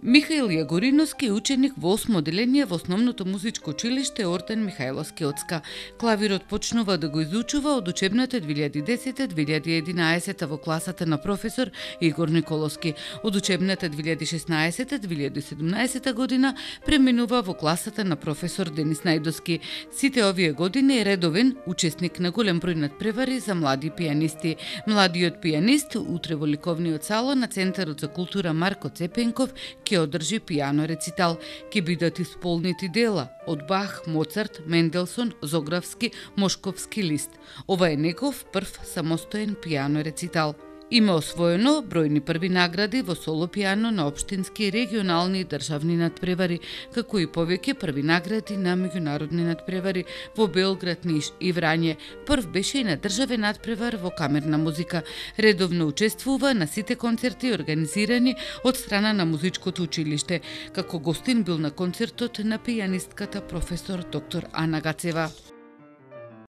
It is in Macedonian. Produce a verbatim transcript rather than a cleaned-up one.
Михаил Јагориновски е ученик во осмо одделение во основното музичко училиште Ортен Михајловски Оцка. Клавирот почнува да го изучува од учебната две илјади и десета две илјади и единаесета во класата на професор Игор Николовски. Од учебната две илјади и шеснаесета две илјади и седумнаесета година преминува во класата на професор Денис Најдовски. Сите овие години е редовен учесник на голем број надпревари за млади пијанисти. Младиот пијанист утре во ликовниот салон на Центарот за култура Марко Цепенков ќе одржи пијано рецитал. Ќе бидат исполнети дела од Бах, Моцарт, Менделсон, Зографски, Мошковски лист. Ова е негов прв самостоен пијано рецитал. Има освоено бројни први награди во соло пијано на општински, регионални и државни надпревари, како и повеќе први награди на меѓународни надпревари во Белград, Ниш и Врање. Прв беше и на државен надпревар во камерна музика. Редовно учествува на сите концерти организирани од страна на музичкото училиште. Како гостин бил на концертот на пијанистката професор доктор Ана Гацева.